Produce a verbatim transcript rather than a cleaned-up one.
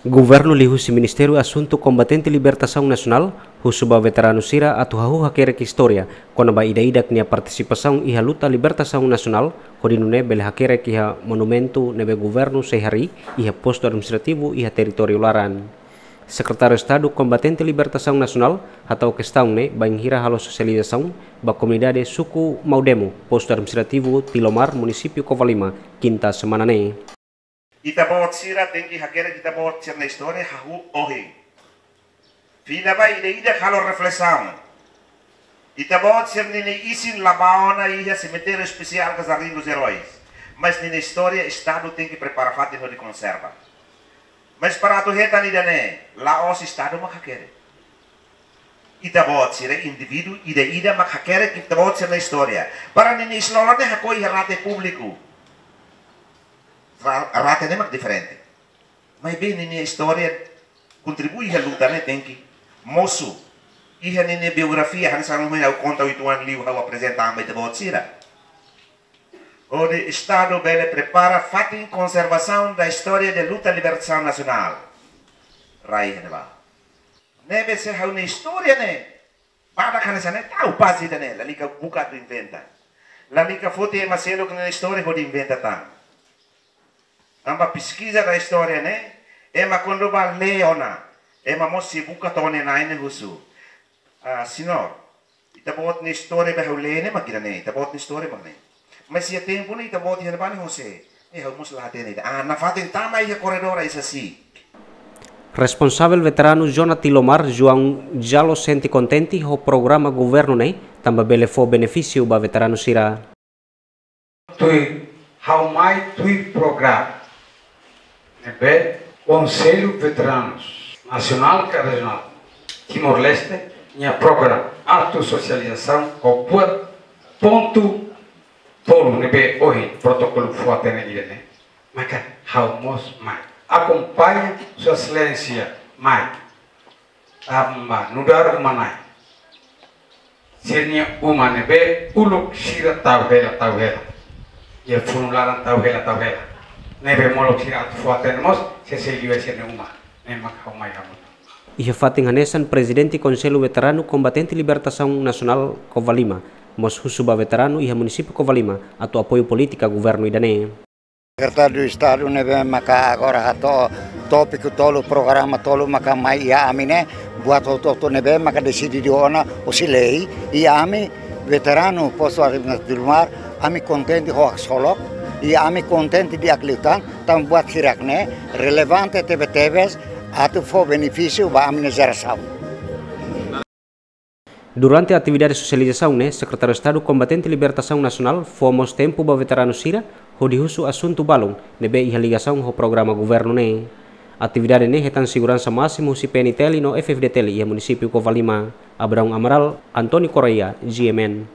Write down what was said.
Governu liuhusi Ministériu Asuntu Kombatente Libertasaun Nasionál husu ba veteranu sira atu hahú hakerek istória kona-ba ida-idak nia partisipasaun iha luta libertasaun nasionál, hodi nune'e bele hakerek iha monumentu ne'ebé governu sei harii iha postu administrativu iha territóriu laran. Sekretáriu Estadu Kombatente Libertasaun Nasionál hato'o kestaun ne'e bainhira halo sosializasaun ba komunidade suku Maudemo, postu administrativu Tilomar, munisípiu Covalima, kinta semana ne'e. Ita-boot sira tenke hakerek ita-boot sira-nia istória hahú ohin. Fila ba ida-idak halo reflesaun. Ita-boot sira-nia isin la bá ona iha semitériu espesiál ka Jardín dos Heróis. Mas ninia istória Estadu tenke prepara fatin hodi konserva. Mas para atu hetan ida-ne'e, la'ós Estadu mak hakerek. Ita-boot sira indivíduu ida-idak mak hakerek ita-boot sira-nia istória. Para ninia isin-lolon ne'e hakoi iha rate públiku. Ra-, rate ne'e mak diferente. Maibé ninia istória kontribui iha luta ne'e tenke mosu. Iha ninia biografia, hanesan ohin ha'u konta uitoan liu ha'u aprezenta ba ita-boot sira. Hodi Estadu bele prepara fatin konservasaun da istória de luta libertasaun nasionál. Rai iha ne'ebá. Ne'ebé se ha'u-nia istória ne'e badak hanesan ne'e, tau pasi ida-ne'e, lalika buka atu inventa. Lalika foti ema seluk nia istória hodi inventa tan. Tanba peskiza da istória ne'e, ema kuandu bá lee ona, ema mós sei buka to'o nia na'in ne'e husu: "Ah, señór, ita-boot nia istória be ha'u lee ne'e mak ida-ne'e, ita-boot nia istória mak ne'e." Mas iha tempu ne'e ita-boot iha ne'ebá ne'e hosé, eh, ha'u mós la hatene ida. Ah, nafatin tama iha korredór ai sasi. Responsavel veteranu zona Tilomar, João Jalo, sente kontente ho programa governu ne'e, tanba bele fó benefísiu ba veteranu sira. Tuir, ha'u mai tuir programa ne'ebé Konsellu Veteranus Nasionál ka Rejionál Timor-Leste nia programa atu sosializasaun ho buat pontu tolu ne'ebé ohin protokolu fó-hatene ida-ne'e. Maka ha'u mós mai. Akompaña Sua Exelénsia mai. Tanba nu'udar uma-na'in sira-nia uma ne'ebé uluk sira tau hela, tau hela. Iha funu laran tau hela, tau hela. Ne'ebé molok sira atu fó-hatene mós, sei, sei liu sira-nia uma. Ne'e mak ha'u mai hamutuk. Iha fatin hanesan, Prezidente Konsellu Veteranu Kombatente Libertasaun Nasionál Covalima mós husu ba veteranu iha munisípiu Covalima atu apoiu polítika governu ida-ne'e. Sekretáriu Estadu ne'ebé maka agora hato'o tópiku tolu, programa tolu maka mai iha ami ne'e, buat hotu-hotu ne'ebé maka deside ona husi lei, i ami veteranu postu administrativu Tilomar, ami kontente ho haksolok, i ami kontente di'ak liután, tanba buat hirak-ne'e relevante tebe-tebes atu fó benefísiu ba ami-nia jerasaun. Durante atividade sosializasaun ne'e, Sekretáriu Estadu Kombatente Libertasaun Nasionál fó mós tempu ba veteranu sira hodi husu asuntu balun ne'ebé iha ligasaun ho programa governu ne'e. Atividade ne'e hetan seguransa másimu husi P N T L no F F D T L iha munisípiu Covalima. Abraão Amaral, António Correia, G M N.